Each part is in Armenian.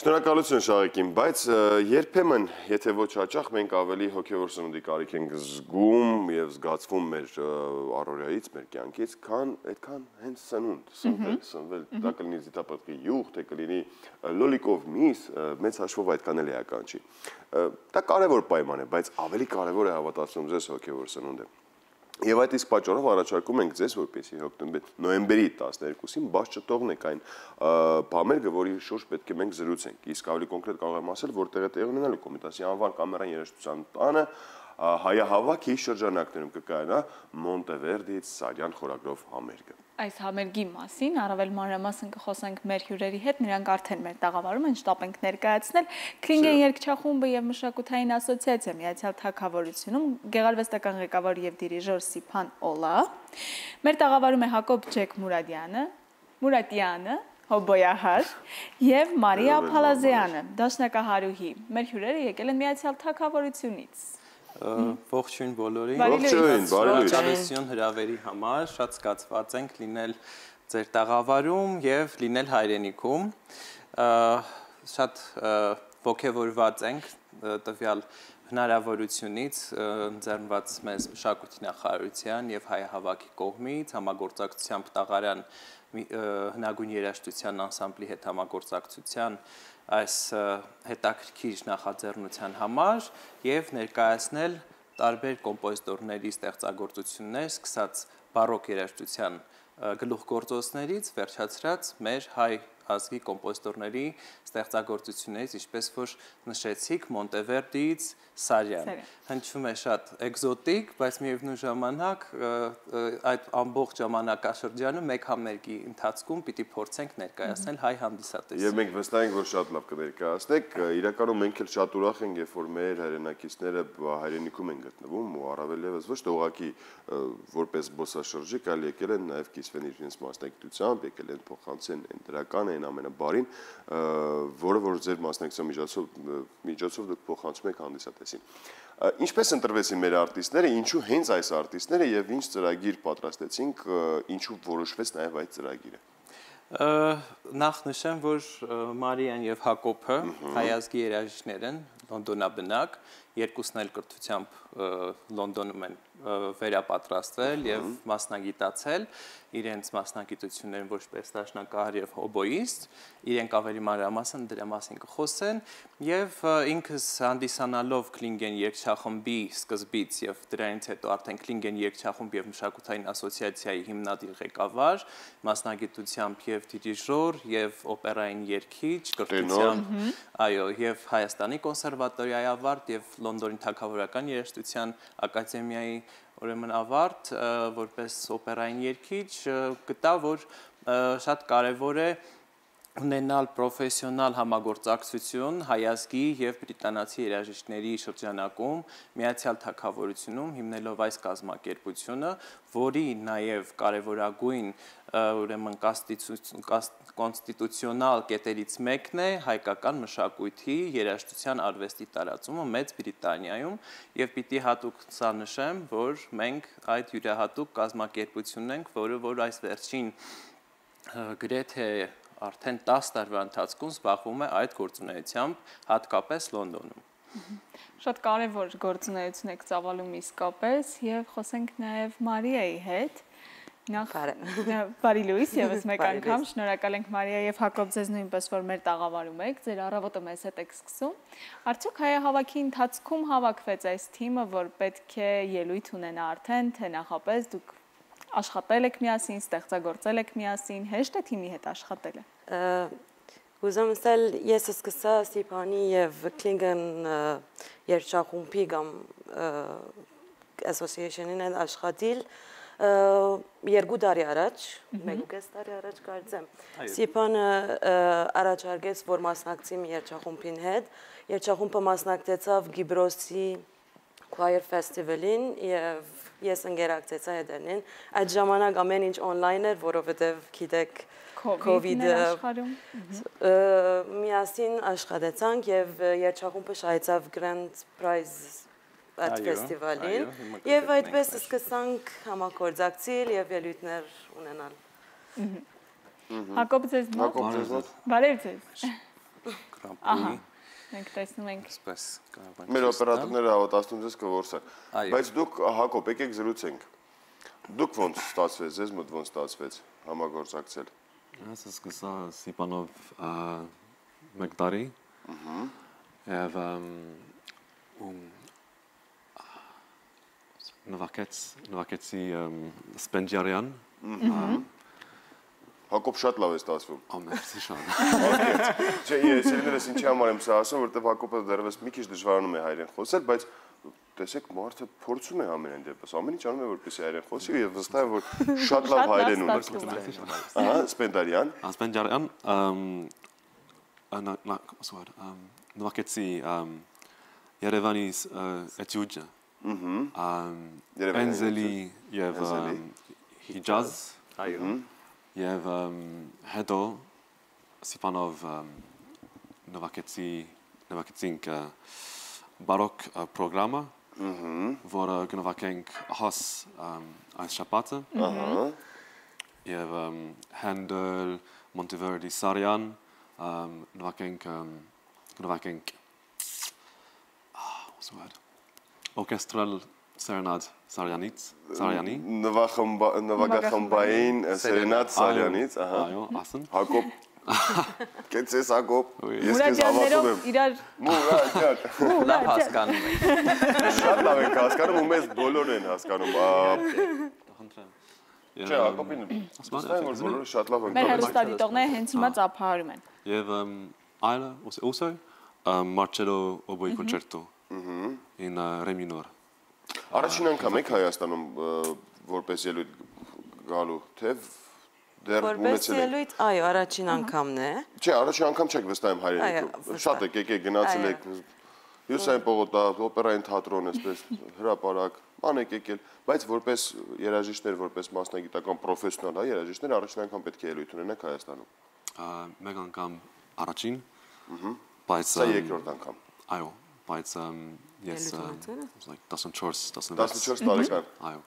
Շնորհակալություն Շաղեկին, բայց երբեմն, եթե ոչ հաճախ, մենք ավելի հոգևոր սնունդի կարիք ենք զգում եւ զգացվում մեր առօրյայից, մեր կյանքից, քան այդքան հենց սնվել, դա կլինի զիթապտղի յուղ, թե կլինի լոլիկով միս, մեծ հաշվով այդքան էլ էական չի։ Դա կարևոր պայման է, բայց ավելի կարևոր է հավատացնում ձեզ հոգևոր սնունդը։ Եվ այդ իսկ պատճառով առաջարկում ենք ձեզ, որպեսզի նոյեմբերի 12-ին բաց չթողնեք այն բամերգը, որի շուրջ պետք է մենք զրուցենք։ Իսկ ավելի կոնկրետ կարող եմ ասել, որտեղ է տեղի ունենալու Կոմիտասի անվան կամերային երաժշտության տանը հայահավաքի շրջանակներում կկայանա Մոնտևերդիից Սարյան խորագրով համերգը։ Այս համերգի մասին առավել մանրամասն կխոսենք մեր հյուրերի հետ, նրանք արդեն մեր տաղավարում են, շտապ ենք ներկայացնել Քլինգեն երգչախումբը եւ մշակութային ասոցիացիա Միացյալ Թագավորությունում գեղարվեստական ղեկավար եւ դիրիժոր Սիփան Օլա։ Մեր տաղավարում է Հակոբ Ջեք Մուրադյանը, հոբոյահար եւ Մարիա Փալազյանը, դաշնակահարուհի։ Մեր հյուրերը եկել են Միացյալ Թագավորությունից։ Ողջույն բոլորին, Ողջույն հրավերի համար, շատ զգացված ենք լինել ձեր տաղավարում եւ լինել հայրենիքում, շատ ողջավորված ենք տվյալ հնարավորությունից ընձեռնված մեզ մշակույթի նախարարության եւ հայահավաքի կողմից համագործակցությամբ տաղարան հնագույն երաժշտության անսամբլի հետ համագործակցության այս հետաքրքիր նախաձեռնության համար եւ ներկայացնել տարբեր կոմպոզիտորների ստեղծագործություններ, սկսած բարոկ երաժշտության գլուխգործոցներից վերջացրած մեր հայ ազգի կոմպոզիտորների ստեղծագործություններից, ինչպես որ նշեցիք, Մոնտևերդիից Սարյան։ Հնչում է շատ էկզոտիկ, բայց միևնույն ժամանակ այդ ամբողջ ժամանակաշրջանը մեկ համերգի ընթացքում պիտի փորձենք ներկայացնել հայ հանդիսատեսին։ Եվ մենք վստահ ենք, որ շատ լավ կներկայացնեք, իրականում մենք էլ շատ ուրախ ենք, երբ որ մեր հայրենակիցները հայրենիքում են գտնվում ու առավել եւս ոչ թե ուղղակի որպես զբոսաշրջիկ, այլ եկել են նաեւ կիսվեն իրենց մասնագիտությամբ, եկել են փոխանցեն այն դրականը, այն ամենաբարին, որը որ ձեր մասնակցության միջոցով դուք փոխանցում եք հանդիսատեսին։ Ինչպես ընտրվեցին մեր արտիստները, ինչու հենց այս արտիստները եւ ինչ ծրագիր պատրաստեցինք, ինչու որոշվեց նաեւ այդ ծրագիրը։ Նախ նշեմ, որ Մարիան եւ Հակոբը հայ ազգի երաժիշտներ են, լոնդոնաբնակ, երկուսն էլ կրթությամբ Լոնդոնում են վերապատրաստվել եւ մասնագիտացել իրենց մասնագիտություններն որպես դաշնակահար եւ հոբոիստ, իրենք ավելի մանրամասն դրա մասին կխոսեն եւ ինքս հանդիսանալով Քլինգեն երգչախմբի սկզբից եւ դրանից հետո արդեն Քլինգեն երգչախումբ եւ մշակութային ասոցիացիայի հիմնադիր ղեկավար, մասնագիտությամբ եւ դիրիժոր եւ օպերային երգիչ, կրթությամբ, այո, եւ Հայաստանի կոնսերվատորիայի ավարտ եւ Լոնդոնի թագավորական երաժշտության ակադեմիայի ուրեմն ավարտ որպես օպերային երգիչ գտա, որ շատ կարևոր է ունենալ պրոֆեսիոնալ համագործակցություն հայ ազգի եւ բրիտանացի երաժիշտների շրջանակում Միացյալ Թագավորությունում հիմնելով այս կազմակերպությունը, որի նաեւ կարևորագույն ուրեմն կոնստիտուցիոնալ կետերից մեկն է հայկական մշակույթի երաժշտության արվեստի տարածումը Մեծ Բրիտանիայում եւ պիտի հատուկ սա նշեմ, որ մենք այդ յուրահատուկ կազմակերպությունն ենք, որ այս վերջին գրեթե արդեն 10 տարվա ընթացքում զբաղվում է այդ գործունեությամբ հատկապես Լոնդոնում։ Շատ կարևոր գործունեություն եք ծավալում իսկապես եւ խոսենք նաեւ Մարիայի հետ։ Բարի լույս եւս մեկ անգամ, շնորհակալ ենք Մարիա եւ Հակոբ ձեզ նույնպես որ մեր տաղավարում եք, ձեր առավոտը մեզ հետ եք սկսում։ Արդյոք հայահավաքի ընթացքում հավաքվեց այս թիմը, որ պետք է ելույթ ունենա արդեն, թե նախապես դուք աշխատել եք միասին, ստեղծագործել եք միասին, հեշտ է թիմի հետ աշխատելը։ Ուզում ասել, ես սկսա Սիփանի եւ Քլինգեն երգչախումբի կամ association-ին աշխատել երկու տարի առաջ, մեկ տարի առաջ կարծեմ։ Սիփանը առաջարկեց, որ մասնակցի մի երգչախումբին հետ, երգչախումբը մասնակցեցավ Գիբրոսի Choir Festival-ին եւ ես ընկերակցեցա հետերին։ Այդ ժամանակ ամեն ինչ on-line էր, որովհետեւ գիտեք COVID-ը միասին աշխատեցանք եւ երգչախումբը շահեցավ Grand Prize այդ ֆեստիվալին եւ այդպես սկսանք համագործակցել եւ ելույթներ ունենալ։ Հակոբ ձեզ բարև ձեզ։ Grand Prix։ Մենք տեսնում ենք։ Այսպես կարող ենք։ Մեր օպերատորները հավատացնում ձեզ կորսան։ Այո։ Բայց դուք Հակոբ, եկեք զրուցենք։ Դուք ոնց ստացվեց, ձեզ մոտ ոնց ստացվեց համագործակցել։ Ես սկսա Սիպանով մեկ տարի։ Եվ նվակեցի Սպենդիարյան։ Հակոբ շատ լավ է ստացվում։ Ամերսի շատ։ Չէ, ես իրենից ինչի համար եմ սա ասում, որովհետև Հակոբը դեռևս մի քիչ դժվարանում է հայերեն խոսել, բայց տեսեք, մարդը փորձում է ամեն դեպս, ամեն ինչ անում է որպեսզի հայերեն խոսի եւ վստահ եմ, որ շատ լավ հայերեն ունի։ Ահա, Սպենդիարյան։ Սպենդիարյան նվակեցի Երևանի էտյուդը։ Էնզելի եւ Հիջազ։ Այո։ Եվ հետո Սիպանով նվակեցինք բարոկ պրոգրամը, որը կնվակենք հաս այս շաբաթը, եւ Handel, Monteverdi, Sarian, նվակենք orchestral serenade Sariani, նվագախմբային Սերենադ Սարյանից, ահա։ այո, ասեն։ Հակոբ, կեցես Հակոբ, ես քեզ հավատում եմ։ Իրար Մուրաջան։ Լավ հասկանում եք։ Շատ լավ ենք հասկանում ու մեզ բոլորն են հասկանում։ Չէ, Հակոբին ասում որ բոլորը շատ լավ են։ մեր հեռուստադիտողները հենց հիմա ծափահարում են։ Եվ այլը also Marcello Oboe Concerto in re minor։ Առաջին անգամ եք Հայաստանում որպես ելույթ գալու, թե դեռ Որպես ունեցել եք։ ելույթ, այո, առաջին անգամն է։ Չէ, առաջին անգամ չեք վստահ եմ հայերենիքում։ Շատ եք եկեք գնացել եք Հյուսային պողոտա, օպերային թատրոն, այսպես հրապարակ, բան եք եկել, բայց որպես երաժիշտներ, որպես մասնագիտական պրոֆեսիոնալ երաժիշտներ առաջին անգամ պետք է ելույթ ունենաք Հայաստանում։ Մեկ անգամ առաջին, բայց Սա երկրորդ անգամ։ այո, բայց ես 14 տարեկան։ այո։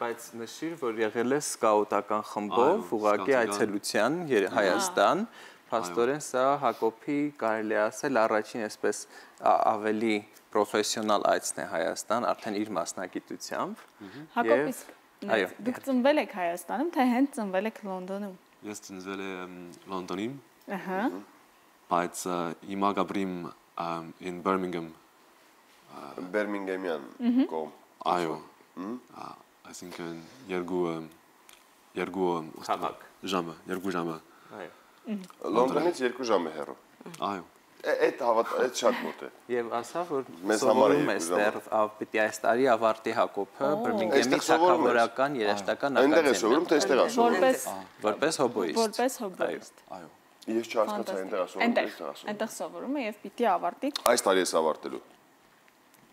Բայց նշիր, որ եղել է սկաուտական խմբով ուղղակի այցելության Հայաստան, փաստորեն սա Հակոբի կարելի ասել առաջին այսպես ավելի պրոֆեսիոնալ այցն է Հայաստան, արդեն իր մասնագիտությամբ։ Հակոբ, իսկ դուք ծնվել եք Հայաստանում, թե հենց ծնվել եք Լոնդոնում։ Ես ծնվել եմ Լոնդոնում, Ահա։ բայց հիմա գաբրիմ in Birmingham։ Բերմինգեմյան կողմ։ Այո։ Այսինքն երկու Քաղաք։ ժամը։ Այո։ Լոնդոնից 2 ժամ է հեռու։ Այո։ Այդ շատ մոտ է։ Եվ ասա, որ Մեզ համար սովորում է 2 ժամ։ ստեղ պիտի այս տարի ավարտի Հակոբը Բիրմինգեմի թագավորական երաժշտական Այնտեղ է սովորում, թե այստեղ է սովորում։ Որպես հոբոիստ։ որպես հոբոիստ։ Այո։ Ես չհասկացա այնտեղ է սովորում, այստեղ է սովորում։ Այնտեղ սովորում է եւ պիտի ավարտի։ Այս տարի ես ավարտելու։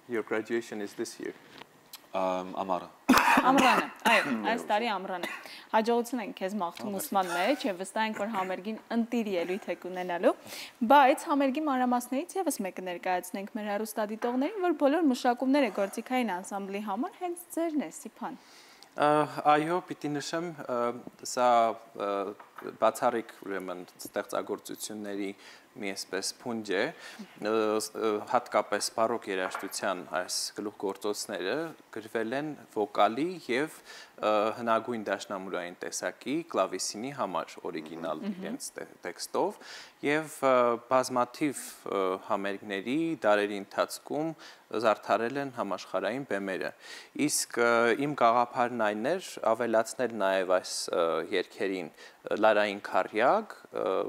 Your graduation is this year. Ամառը։ Ամռանը, այո, այս տարի ամռանը։ Հաջողություն ենք քեզ մաղթում ուսման մեջ եւ վստահ ենք, որ համերգին ընտիր ելույթ եք ունենալու, բայց համերգի մանրամասներից եւս մեկը ներկայացնենք մեր հեռուստադիտողներին, որ բոլոր մշակումները գործիքային անսամբլի համար հենց ձերն է, Սիփան։ Այո, պիտի նշեմ, սա բացառիկ ուրեմն ստեղծագործությունների մի այսպես փունջ է, հատկապես բարոկ երաժշտության այս գլուխգործոցները գրվել են վոկալի եւ հնագույն դաշնամուրային տեսակի կլավիսինի համար օրիգինալ իրենց տեքստով եւ բազմաթիվ համերգների դարերի ընթացքում զարդարել են համաշխարհային բեմերը։ Իսկ իմ գաղափարն այն էր ավելացնել նաեւ այս երգերին լարային քարյակ,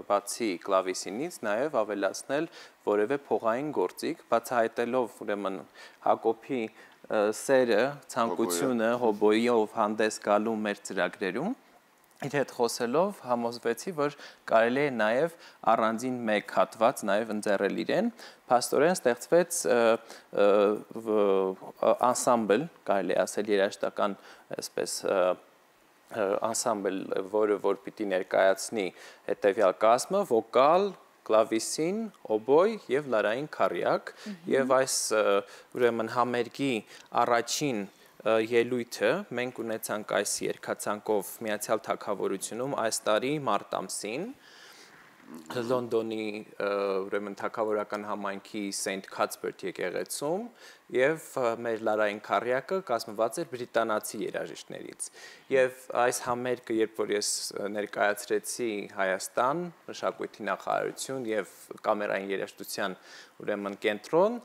բացի կլավիսինից նաեւ ավելացնել որևէ փողային գործիք, բացահայտելով ուրեմն Հակոբի սերը, ցանկությունը հոբոյով հանդես գալու մեր ծրագրերում, իր հետ խոսելով համոզվեցի, որ կարելի է նաև առանձին մեկ հատված նաև ընձեռել իրեն, փաստորեն ստեղծվեց անսամբլ, կարելի է ասել երաժշտական այսպես անսամբլ, որը որ պիտի ներկայացնի հետևյալ կազմը, վոկալ, կլավիսին, օբոյ եւ լարային քարյակ եւ այս ուրեմն համերգի առաջին ելույթը մենք ունեցանք այս երկացանկով Միացյալ Թագավորությունում այս տարի մարտ ամսին Լոնդոնի ուրեմն թագավորական համայնքի Saint Cuthbert եկեղեցում եւ մեր լարային քարյակը կազմված էր բրիտանացի երաժիշտներից եւ այս համերգը երբ որ ես ներկայացրեցի Հայաստան մշակույթի նախարարություն եւ կամերային երաժշտության ուրեմն կենտրոն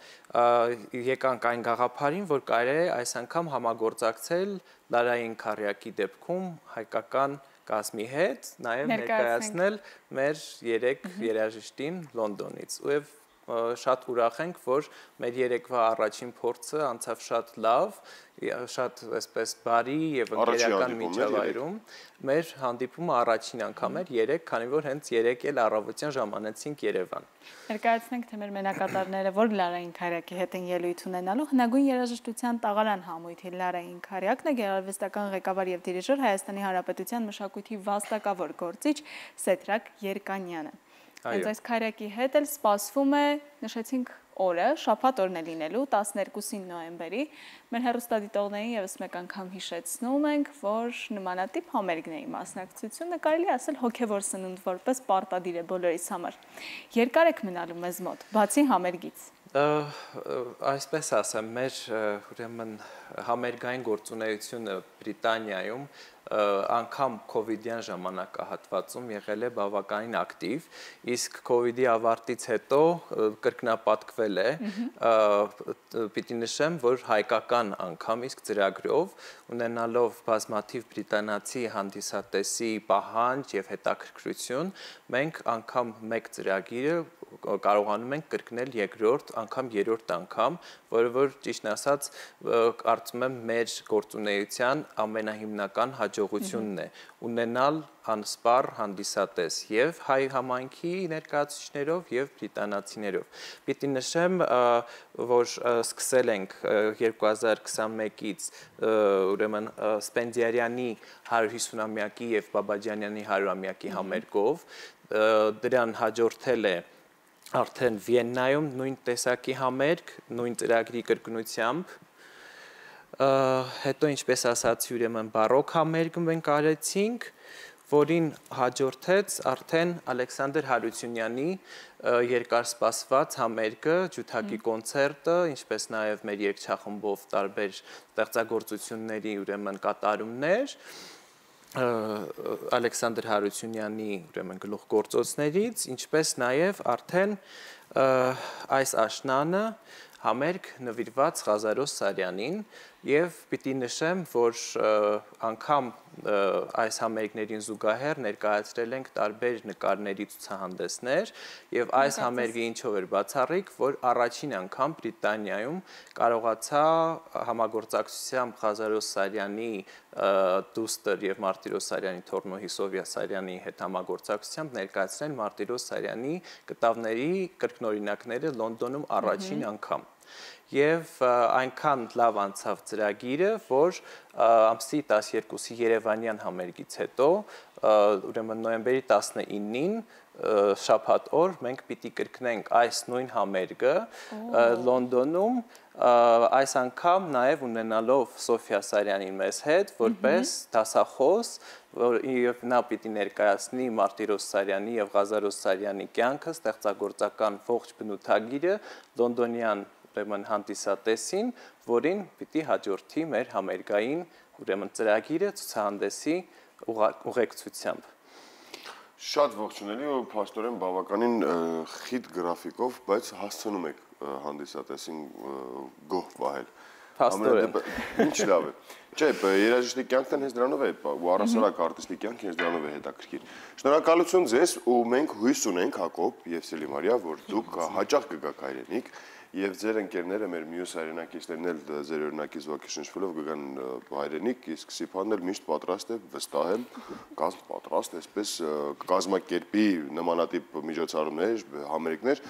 եկանք այն գաղափարին որ կարելի է այս անգամ համագործակցել լարային քարյակի դեպքում հայկական կազմի հետ նաև ներկայացնել մեր 3 երաժիշտին Լոնդոնից եւ շատ ուրախ ենք որ մեր երեկվա առաջին փորձը անցավ շատ լավ շատ այսպես բարի եւ ընկերական միջավայրում մեր հանդիպումը առաջին անգամ էր 3 քանի որ հենց 3 էլ առավոտյան ժամանեցինք Երևան Ներկայացնենք թե մեր մենակատարները որ լարային քարյակի հետ են ելույթ ունենալու հնագույն երաժշտության տաղարան համույթի լարային քարյակն է գեղարվեստական ղեկավար եւ դիրիժոր Հայաստանի Հանրապետության մշակույթի վաստակավոր գործիչ Սեդրակ Երկանյանը Հենց այս քարյակի հետ էլ սպասվում է, նշեցինք օրը, շաբաթ օրն է լինելու 12 նոյեմբերի։ Մեր հեռուստադիտողներին եւս մեկ անգամ հիշեցնում ենք, որ նմանատիպ համերգների մասնակցությունը կարելի ասել հոգեվոր սնունդ որպես պարտադիր է բոլորիս համար։ Երկար եք մնալու մեզ մոտ, բացի համերգից։ Այսպես ասեմ, մեր ուրեմն համերգային գործունեությունը Բրիտանիայում անգամ կովիդյան ժամանակահատվածում եղել է բավականին ակտիվ, իսկ կովիդի ավարտից հետո կրկնապատկվել է, պիտի նշեմ, որ հայկական անգամ իսկ ծրագրով ունենալով բազմաթիվ բրիտանացի հանդիսատեսի պահանջ եւ հետաքրքրություն, մենք անգամ մեկ ծրագիրը կարողանում ենք կրկնել երկրորդ անգամ, երրորդ անգամ, որը որ ճիշտ ասած կարծում եմ մեր գործունեության ամենահիմնական հաջողությունն է ունենալ անսպառ հանդիսատես եւ հայ համայնքի ներկայացուցիչներով եւ բրիտանացիներով։ Պիտի նշեմ, որ սկսել ենք 2021-ից ուրեմն Սպենդիարյանի 150-ամյակի եւ Բաբաջանյանի 100-ամյակի համերգով դրան հաջորդել է Արդեն Վիեննայում նույն տեսակի համերգ, նույն ծրագրի կրկնությամբ, հետո ինչպես ասացի ուրեմն բարոկ համերգը մենք արեցինք, որին հաջորդեց արդեն Ալեքսանդր Հարությունյանի երկար սպասված համերգը, ջութակի կոնցերտը, ինչպես նաև մեր երգչախմբով տարբեր ստեղծագործությունների ուրեմն կատարումներ, Ալեքսանդր Հարությունյանի ուրեմն գլուխգործոցներից, ինչպես նաև արդեն այս աշնանը համերգ նվիրված Ղազարոս Սարյանին եւ պիտի նշեմ, որ անգամ այս համերգներին զուգահեռ ներկայացրել ենք տարբեր նկարների ցուցահանդեսներ եւ այս համերգը ինչով էր բացառիկ, որ առաջին անգամ Բրիտանիայում կարողացա համագործակցությամբ Ղազարոս Սարյանի դուստր եւ Մարտիրոս Սարյանի թոռնոհի Սովյա Սարյանի հետ համագործակցությամբ ներկայացնել Մարտիրոս Սարյանի կտավների կրկնօրինակները Լոնդոնում առաջին անգամ Եվ այնքան լավ անցավ ծրագիրը, որ ամսի 12-ի Երևանյան համերգից հետո, ուրեմն նոյեմբերի 19-ին շաբաթ օր մենք պիտի կրկնենք այս նույն համերգը Լոնդոնում, այս անգամ նաև ունենալով Սոֆյա Սարյանին մեզ հետ, որպես դասախոս, եւ նա պիտի ներկայացնի Մարտիրոս Սարյանի եւ Ղազարոս Սարյանի կյանքը, ստեղծագործական ողջ բնութագիրը լոնդոնյան ուրեմն հանդիսատեսին, որին պիտի հաջորդի մեր համերգային ուրեմն ծրագիրը ցուցահանդեսի ուղեկցությամբ։ Շատ ողջունելի ու փաստորեն բավականին խիտ գրաֆիկով, բայց հասցնում եք հանդիսատեսին գոհ պահել։ Փաստորեն։ Ինչ լավ է։ Չէ, երաժշտի կյանքն հենց դրանով է, ու առասարակ արտիստի կյանքը հենց դրանով է հետաքրքիր։ Շնորհակալություն ձեզ ու մենք հույս ունենք Հակոբ եւ Սելիմարիա, որ դուք հաճախ կգաք հայրենիք եւ ձեր ընկերները մեր մյուս հայրենակիցներն էլ ձեր օրինակից ողջունելով կգան հայրենիք, իսկ Սիփանն էլ միշտ պատրաստ է, վստահ եմ, կազմ պատրաստ, այսպես կազմակերպի նմանատիպ միջոցառումներ, համերգներ,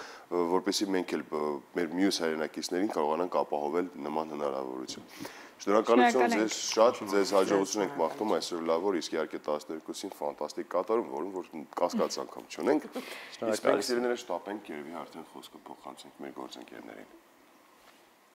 որպեսզի մենք էլ մեր մյուս հայրենակիցներին կարողանանք ապահովել նման հնարավորություն։ Շնորհակալություն ձեզ շատ, ձեզ հաջողություն ենք մաղթում այսօր լավ օր, իսկ իհարկե 12-ին ֆանտաստիկ կատարում, որում որ կասկած անգամ չունենք։ Իսկ մենք սիրելիները շտապենք երևի արդեն խոսքը փոխանցենք մեր գործընկերներին։